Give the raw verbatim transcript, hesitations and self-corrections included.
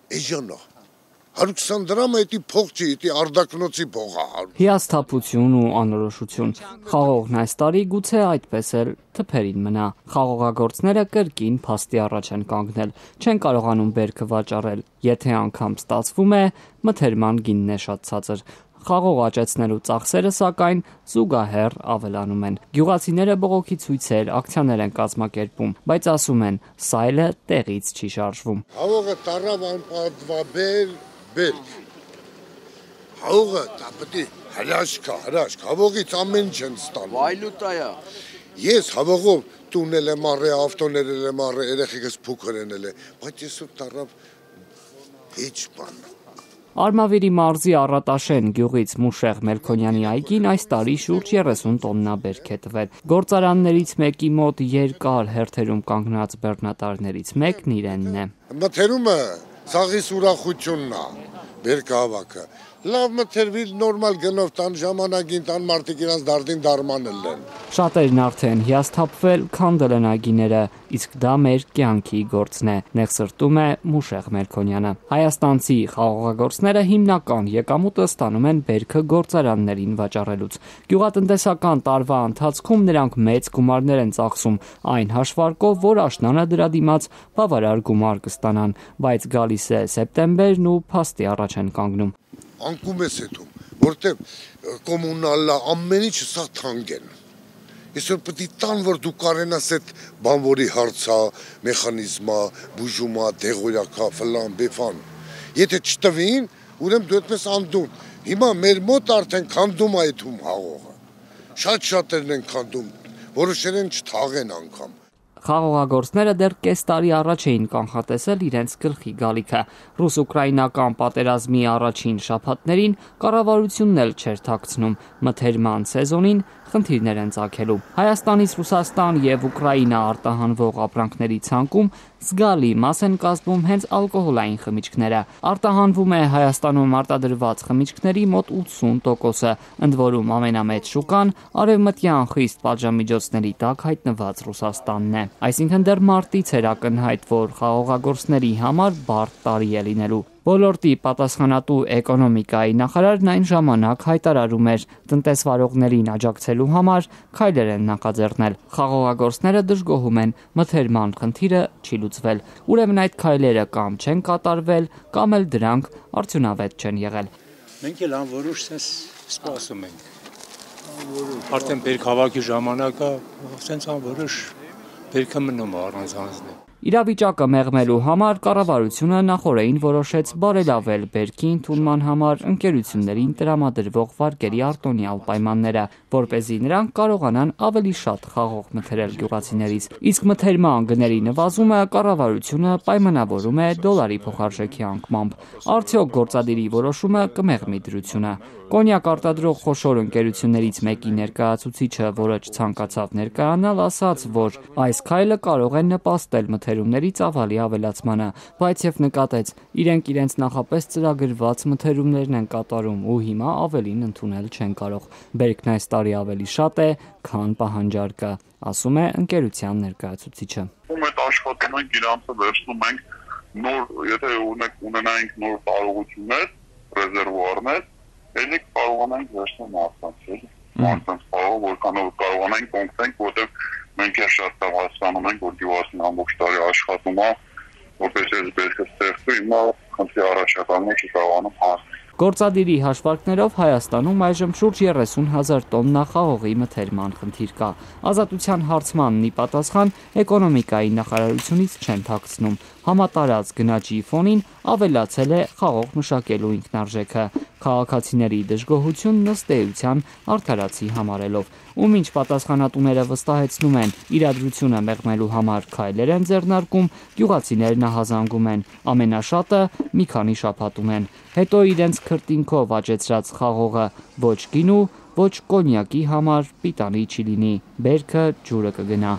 Էժանա։ հարյուր քսան դրամը էդի փող չի, էդի արդակնոցի փող է։ Հիասթափություն ու անորոշություն։ Խաղողն այս տարի գուցե այդպես էլ թփերին մնա։ Խաղողագործները կրկին փաստի առաջ են կանգնել, չեն կարողանում բերքը վաճառել, եթե անգամ ստացվում է, մթերման գինն է շատ ցածր։ Խաղող աճեցնելու ծախսերը սակայն զուգահեռ ավելանում են։ Գյուղացիները բողոքի ցույցեր, ակցիաներ են կազմակերպում, բայց ասում են, սա էլ տեղից չի շարժվում։ Խաղողը տարավ անպատվաբեր բերք։ Խաղողը դա պետք է հրաշք, հրաշք, խաղողից ամեն ինչ են ստանում։ Վայլուտա է։ Ես խաղողով տունել եմ առել, ավտոներ եմ առել, երեխեքս փոքր են ելել, բայց այսօր տարավ հեչ բան։ Արմավիրի մարզի Առատաշեն գյուղից Մուշեղ Մելքոնյանի այգին այս տարի շուրջ երեսուն տոննա բերք է տվել։ Գործարաններից մեկի մոտ երկար հերթերում կանգնած բեռնատարներից մեկն իրենն է։ Մթերումը ցաղիս ուրախությունն է, բերքը հավաքը։ Լավ մթերվի նորմալ գնով տան ժամանակին տան մարդիկ իրանց դարդին դարմանել են։ Շատերն արդեն հիասթափվել, քանդել են այգիները, իսկ դա մեր կյանքի գործն է, նեղսրտում է Մուշեղ Մելքոնյանը։ Հայաստանցի խաղողագործները հիմնական եկամուտը ստանում են բերքը գործարաններին վաճառելուց։ Գյուղատնտեսական տարվա ընթացքում նրանք մեծ գումարներ են ծախսում, այն հաշվարկով, որ աշնանը դրա դիմաց բավարար գումար կստանան, բայց գալիս է սեպտեմբերն ու փաստի առաջ են կանգնում։ Անկում ես հետում, որտեղ կոմունալը ամեն ինչը սա թանկ են։ Այսօր պետք է տան, որ դու կարենաս այդ բանվորի հարցա, մեխանիզմա, բուժումա, դեղորյակա, ֆլան, բեֆան։ Եթե չտվին, ուրեմն դու այդպես անդուն։ Հիմա մեր մոտ արդեն քանդում է այդում հաղողը։ Շատ շատերն են քանդում, որոշեր են չթաղեն անգամ։ Խաղողագործները դեռ կես տարի առաջ էին կանխատեսել իրենց գլխի գալիքը։ Ռուս-ուկրաինական պատերազմի առաջին շաբաթներին կառավարությունն էլ չէր թաքցնում, մթերման սեզոնին խնդիրներ են ծագելու։ Հայաստանից Ռուսաստան եւ Ուկրաինա արտահանվող ապրանքների ցանկում զգալի մաս են կազմում հենց ալկոհոլային խմիչքները։ Արտահանվում է Հայաստանում արտադրված խմիչքների մոտ ութսուն տոկոսը, ընդ որում ամենամեծ շուկան արևմտյան խիստ պատժամիջոցների տակ հայտնված Ռուսաստանն է։ Այսինքն դեռ մարտից էր ակնհայտ, որ խաղողագործների համար բարդ տարի է լինելու։ Ոլորտի պատասխանատու էկոնոմիկայի նախարարն այն ժամանակ հայտարարում էր, տնտեսվարողներին աջակցելու համար քայլեր են նախաձեռնել։ Խաղողագործները դժգոհում են, մթերման խնդիրը չի լուծվել։ Ուրեմն այդ քայլերը կամ չեն կատարվել, կամ էլ դրանք արդյունավետ չեն եղել։ Մենք էլ անորոշ sense սպասում ենք։ Արդեն բերք հավաքի ժամանակը sense անորոշ բերքը մնում է առանց հանձնել։ Իրավիճակը մեղմելու համար կառավարությունը նախօրեին որոշեց բարելավել բերքի ընդունման համար ընկերություններին տրամադրվող վարկերի արտոնյալ պայմանները, որպեսզի նրանք կարողանան ավելի շատ խաղող մթերել գյուղացիներից։ Իսկ մթերման գների նվազումը կառավարությունը պայմանավորում է դոլարի փոխարժեքի անկմամբ։ Արդյոք գործադիրի որոշումը կմեղմի դրությունը։ Կոնյակ արտադրող խոշոր ընկերություններից մեկի ներկայացուցիչը, որը չցանկացավ ներկայանալ, ասաց, որ այս քայլը կարող է նպաստել մթերումների ծավալի ավելացմանը, բայց եւ նկատեց, իրենք իրենց նախապես ծրագրված մթերումներն են կատարում ու հիմա ավելին ընդունել չեն կարող։ Բերքն այս տարի ավելի շատ է, քան պահանջարկը, ասում է ընկերության ներկայացուցիչը։ Ում այդ աշխատում ենք իրանցը վերցնում ենք նոր, եթե ունենայինք նոր կարողություններ, ռեզերվուարներ, ելիք կարողանանք վերցնել մարդկանց, մարդկանց կարող, որքանով կարողանանք կոնկրենք, որտեղ մենք էլ շատ լավ հասկանում ենք, որ գյուղացին ամբողջ տարի աշխատում է, որպես այս բերքը ստեղծվի, հիմա խնդրի առաջակալն չի կարողանում հասնել։ Գործադիրի հաշվարկներով Հայաստանում այժմ շուրջ երեսուն հազար տոննա խաղողի մթերման խնդիր կա։ Ազատության հարցմանն ի պատասխան էկոնոմիկայի նախարարությունից չեն թաքցնում։ Համատարած գնաճի ֆոնին ավելացել է խաղող մշակելու ինքնարժեքը, քաղաքացիների դժգոհությունն ըստ էության արդարացի համարելով։ Ու մինչ պատասխանատուները վստահեցնում են, իրադրությունը մեղմելու համար քայլեր են ձեռնարկում, գյուղացիներն ահազանգում են, ամենաշատը մի քանի շաբաթում են։ Հետո իրենց քրտինքով աճեցրած խաղողը ոչ գինու, ոչ կոնյակի համար պիտանի չի լինի, բերքը ջուրը կգնա։